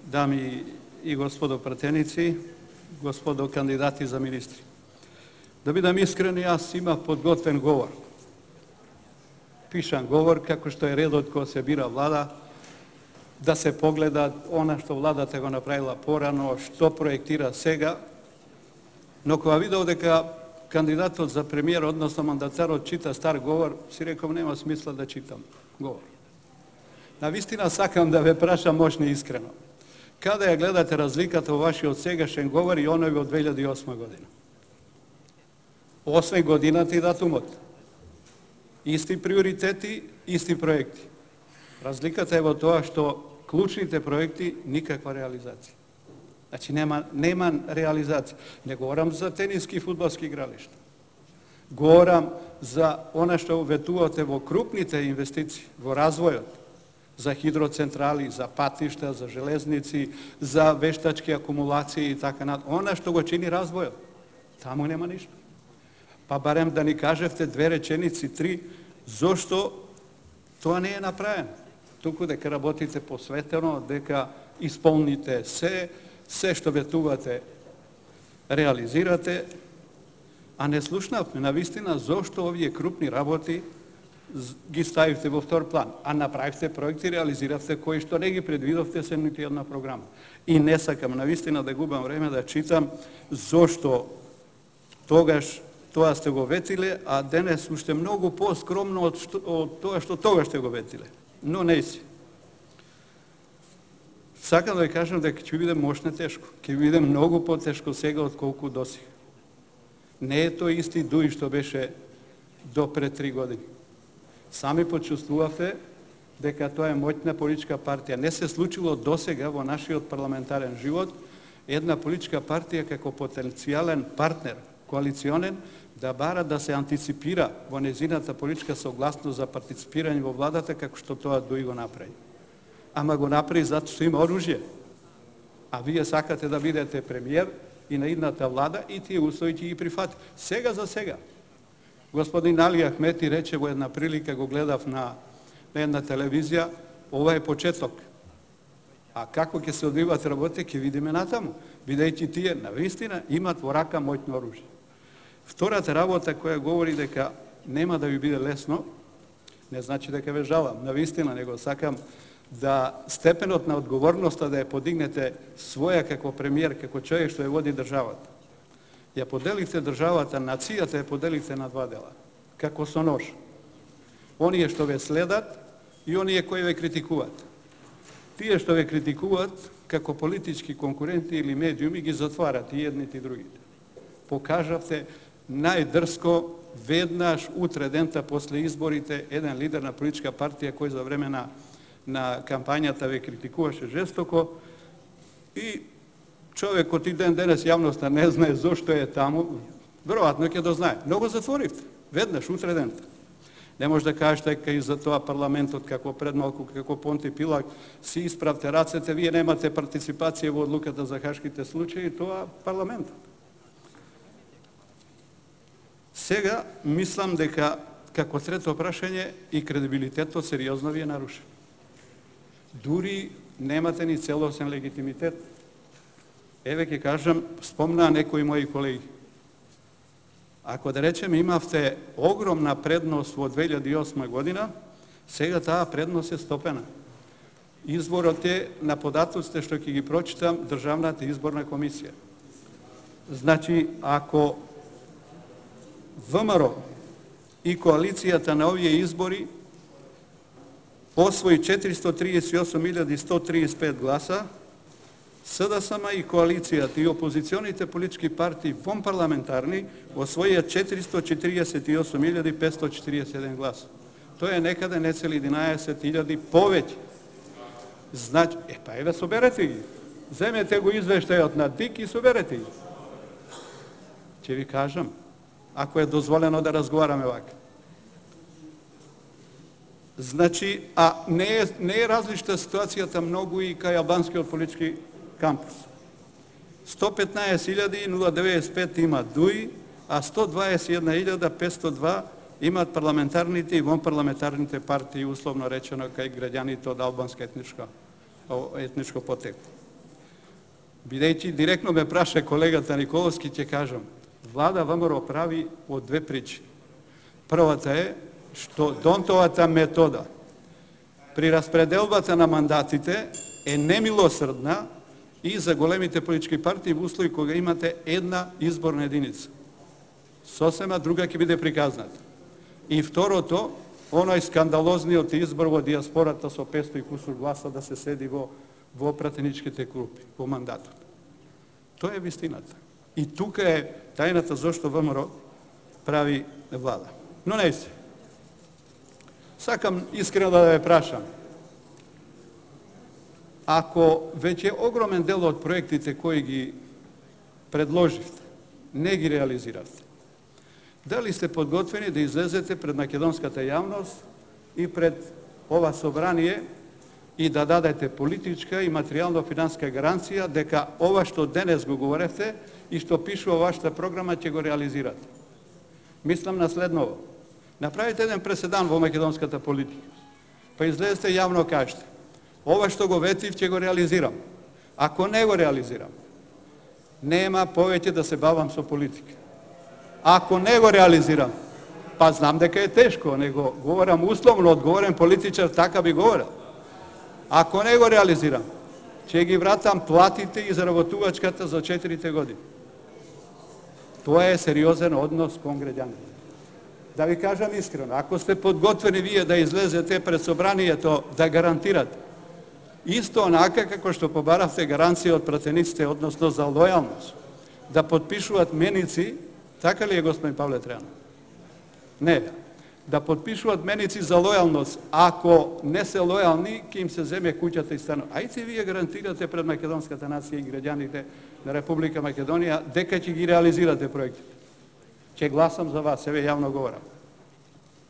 Дами и господо пратеници, господо кандидати за министри. Да бидам искрен, јас имав подготвен говор. Пишан говор, како што е редот кога се бира влада, да се погледа она што владата го направила порано, што проектира сега, но кога видов дека кандидатот за премиер, односно мандатарот, чита стар говор, си реков нема смисла да читам говор. Навистина сакам да ве прашам мощно и искрено. Каде ја гледате разликата во вашиот сегашен говор и оној од 2008 година? Освен годината и датумот. Исти приоритети, исти проекти. Разликата е во тоа што клучните проекти никаква реализација. Значи нема реализација. Не говорам за тениски и фудбалски игралишта. Говорам за она што ветувате во крупните инвестиции, во развојот, за хидроцентрали, за патишта, за железници, за вештачки акумулации и така натаму. Она што го чини развојот. Таму нема ништо. Па барем да ни кажевте две реченици, три, зошто тоа не е направено. Туку дека работите посветено, дека исполните се што ветувате, реализирате, а не слушнавме навистина зошто овие крупни работи ги ставивте во втор план, а направивте проекти, реализиравте кои што не ги предвидовте се нити една програма. И не сакам навистина да губам време да читам зошто тогаш тоа сте го ветиле, а денес уште многу поскромно од тоа што тогаш сте го ветиле. Но не си. Сакам да ви кажам дека ќе биде мощно тешко. Ќе биде многу потешко сега отколку досега. Не е тој исти дуј што беше до пред 3 години. Сами почувствувавте дека тоа е моќна политичка партија. Не се случило досега во нашиот парламентарен живот една политичка партија како потенцијален партнер, коалиционен, да бара да се антиципира во незината политичка согласност за партиципирање во владата како што тоа Дуј го направи. Ама го направи затоа што има оружје. А вие сакате да бидете премиер и на идната влада и тие услови ќе ги прифати. Сега за сега. Господин Али Ахмети рече во една прилика, го гледав на една телевизија, ова е почеток. А како ќе се одвиват работи, ќе видиме натаму, бидејќи тие навистина имат во рака моќно оружје. Втората работа која говори дека нема да ви биде лесно, не значи дека ве жалам, навистина, него сакам да степенот на одговорноста да ја подигнете своја како премиер, како човек што ја води државата. Ја поделихте државата, нацијата ја поделихте на два дела, како со нож. Оние што ве следат и оние кои ве критикуваат. Тие што ве критикуваат, како политички конкуренти или медиуми, ги затварат и едните и другите. Покажавте најдрско веднаш утре дента после изборите еден лидер на политичка партија кој за време на кампањата ве критикуваше жестоко и човекот и денес јавноста не знае зошто е таму, веројатно ќе дознае. Но го затворивте, веднаш, утре дента. Не може да кажете дека и за тоа парламентот, како пред малку, како Понти Пилат, си исправте рацете, вие немате партиципација во одлуката за хашките случаи, тоа парламентот. Сега, мислам дека, како трето прашање, и кредибилитетот сериозно ви е нарушен. Дури немате ни целосен легитимитет. Еве ќе кажам, спомнаа некои мои колеги. Ако да речем имавте огромна предност во 2008 година, сега таа предност е стопена. Изборот е на податоците што ќе ги прочитам Државната изборна комисија. Значи, ако ВМРО и коалицијата на овие избори освои 438.135 гласа, СДСМ и коалицијата и опозиционите политички партии вонпарламентарни освоија 448.541 гласа. Тоа е некаде нецели 11.000 повеќе. Значи, па еве соберете ги. Земете го извештајот на ДИК и соберете ги. Ќе ви кажам, ако е дозволено да разговараме вака. Значи, а не е различна ситуацијата многу и кај албанскиот политички кампус. 115.095 имат ДУИ, а 121.502 имат парламентарните и вонпарламентарните партии, условно речено, кај граѓаните од албанска етничка етничко потекло. Бидејќи директно ме праша колегата Николовски, ќе кажам, влада ВМРО прави од две причини. Првата е што Донтовата метода при распределбата на мандатите е немилосрдна и за големите политички партии во услови кога имате една изборна единица. Сосема друга ќе биде приказната. И второто, оној скандалозниот избор во диаспората со 500 и кусур гласа да се седи во пратеничките групи, во мандатот. Тоа е вистината. И тука е тајната зашто ВМРО прави влада. Но не се. Сакам искрено да ве прашам. Ако веќе огромен дел од проектите кои ги предложивте, не ги реализиравте, дали сте подготвени да излезете пред македонската јавност и пред ова собрание и да дадете политичка и материјално-финансска гаранција дека ова што денес го говоревте и што пишува вашата програма ќе го реализирате? Мислам на следново. Направите еден преседан во македонската политика, па излезете јавно кажете: ова што го ветив ќе го реализирам. Ако не го реализирам, нема повеќе да се бавам со политика. Ако не го реализирам, па знам дека е тешко, него говорам условно, одговорен политичар, така би говорил. Ако не го реализирам, ќе ги вратам платите и заработувачката за 4 години. Тоа е сериозен однос кон граѓаните. Да ви кажам искрено, ако сте подготвени вие да излезете пред собранието да гарантирате, исто онака како што побаравте гаранција од пратениците, односно за лојалност, да подпишуваат меници, така ли е, господин Павле Трајанов? Не, да подпишуваат меници за лојалност, ако не се лојални, ќе им се земе куќата и станот. Ајте вие гарантирате пред македонската нација и граѓаните на Република Македонија дека ќе ги реализирате проектите. Ќе гласам за вас, еве јавно говорам.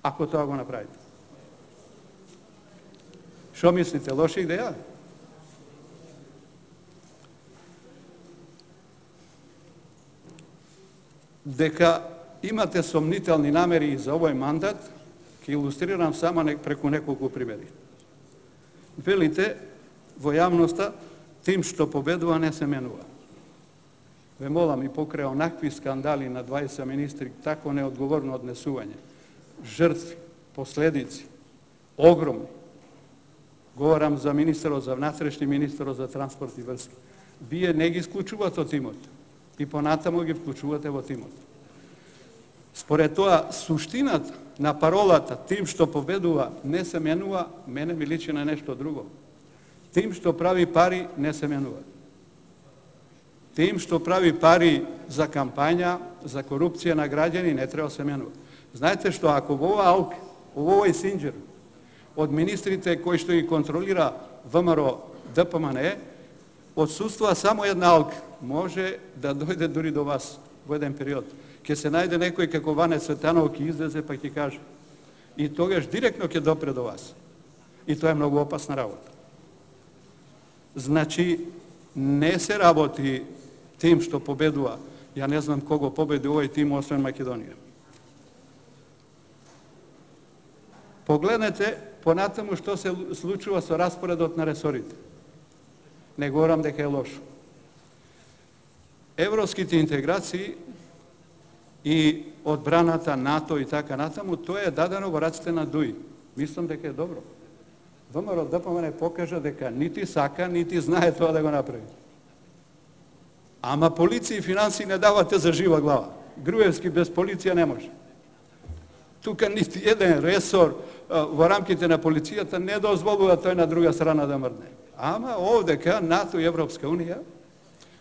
Ако тоа го направите. Што мислите, лоша идеја? Дека имате сомнителни намери за овој мандат, ќе илустрирам само преку неколку примери. Велите во јавноста, тим што победува не се менува. Ве молам, и покрај онакви скандали на 20 министри, тако неодговорно однесување, жртви, последици, огромни. Говорам за министерот за внатрешни, министерот за транспорт и врски. Вие не ги исклучувате од тимот и понатаму ги вклучувате во тимот. Според тоа, суштината на паролата тим што победува не се менува, мене ми личи на нешто друго. Тим што прави пари не се менува. Тим што прави пари за кампања, за корупција на граѓани не треба се менува. Знаете што, ако во ова АЛК, во овој Синџер, од министрите кои што ги контролира ВМРО ДПМН, отсуствува само една АЛК, може да дојде дури до вас во еден период. Ќе се најде некој како Ване Цветанов, ќе излезе па ќе каже. И тогаш директно ќе допре до вас. И тоа е многу опасна работа. Значи, не се работи тим што победува. Ја не знам кого победи овој тим, освен Македонија. Погледнете понатаму што се случува со распоредот на ресорите. Не говорам дека е лошо. Европските интеграции и одбраната, НАТО и така натаму, тоа е дадено во раците на ДУИ. Мислам дека е добро. ВМРО ДПМН покажа дека нити сака, нити знае тоа да го направи. Ама полиција и финанси не давате за жива глава. Груевски без полиција не може. Тука нити еден ресор во рамките на полицијата не дозволува тој на друга страна да мрдне. Ама овдека НАТО и Европска Унија,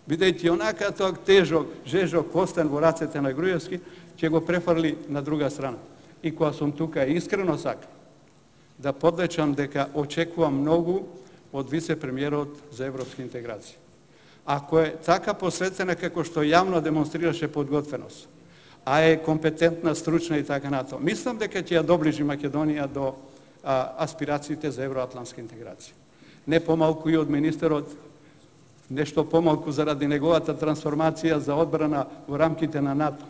бидејќи онака тоа тежок, жежок костен во рацете на Груевски, ќе го префрли на друга страна. И кога сум тука искрено сакам да подлечам дека очекувам многу од вице-премиерот за европски интеграции. Ако е така посветена како што јавно демонстрираше подготвеност, а е компетентна, стручна и така натаму, мислам дека ќе ја доближи Македонија до аспирациите за евроатлантска интеграција. Не помалку и од министерот, нешто помалку заради неговата трансформација за одбрана во рамките на НАТО.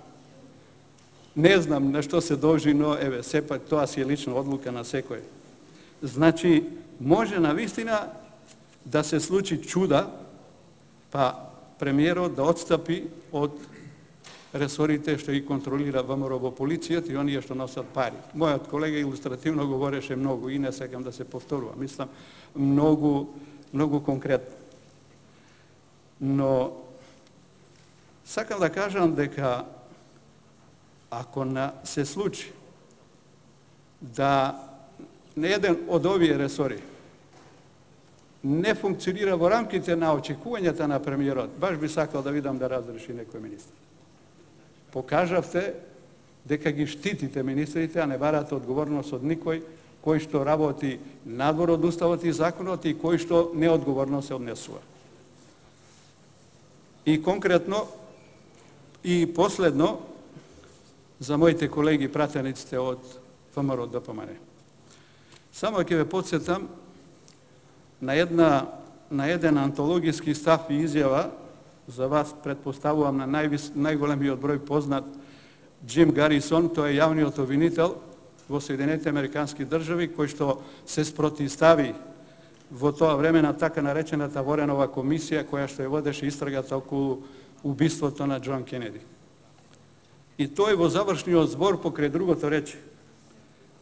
Не знам на што се должи, но еве, сепак тоа си е лична одлука на секој. Значи, може навистина да се случи чуда, па премиерот да отстапи од ресорите што ги контролира ВМРО во полицијата и оние што носат пари. Мојот колега илустративно говореше многу и не сакам да се повторувам. Мислам, многу конкретно. Но сакам да кажам дека ако се случи да не еден од овие ресори не функционира во рамките на очекувањата на премиерот, баш би сакал да видам да разреши некој министр. Покажавте дека ги штитите министрите, а не барате одговорност од никој кој што работи надвор од уставот и законот и кој што неодговорно се однесува. И конкретно, и последно, за моите колеги пратениците од ВМРО ДПМН. Само ќе ве подсетам на еден антологиски став и изјава, за вас предпоставувам на најголемиот број познат Джим Гарисон, тој е јавниот обвинител во Соединетите Американски држави, кој што се спротивстави во тоа време на така наречената Воренова комисија, која што ја водеше истрагата околу убиството на Џон Кенеди. И тој во завршниот збор покрај другото рече: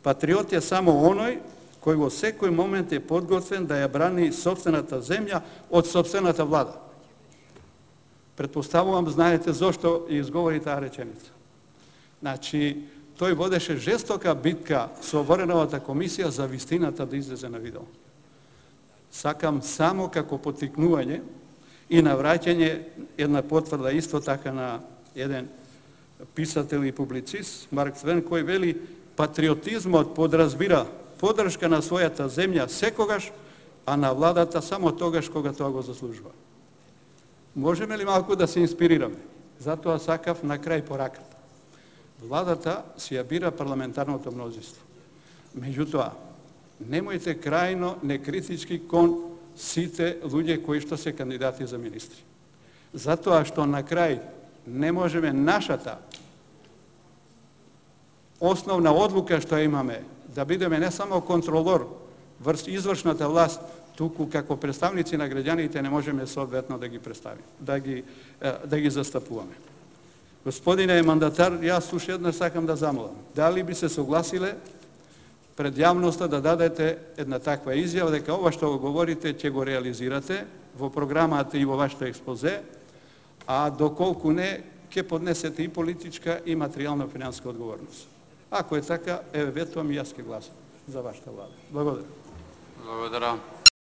патриот е само оној кој во секој момент е подготвен да ја брани сопствената земја од сопствената влада. Предпоставувам, знаете зошто изговори таа реченица. Значи, тој водеше жестока битка со Вореновата комисија за вистината да излезе на видео. Сакам само како поттикнување и на враќање една потврда исто така на еден писател и публицист, Марк Твен, кој вели: патриотизмот подразбира поддршка на својата земја секогаш, а на владата само тогаш кога тоа го заслужува. Можеме ли малку да се инспирираме? Затоа сакав на крај пораката. Владата си ја бира парламентарното мнозинство. Меѓутоа, немојте крајно некритички кон сите луѓе кои што се кандидати за министри. Затоа што на крај не можеме нашата основна одлука што имаме да бидеме не само контролор врз извршната власт, туку како представници на граѓаните не можеме соодветно да ги представиме, да ги застапуваме. Господине мандатар, јас уште еднаш сакам да замолам, дали би се согласиле пред јавноста да дадете една таква изјава дека ова што го говорите ќе го реализирате во програмата и во вашето експозе, а доколку не, ќе поднесете и политичка и материјална финансиска одговорност. Ако е така, еве ветувам и јас ќе гласам за вашата влада. Благодарам. Благодарам.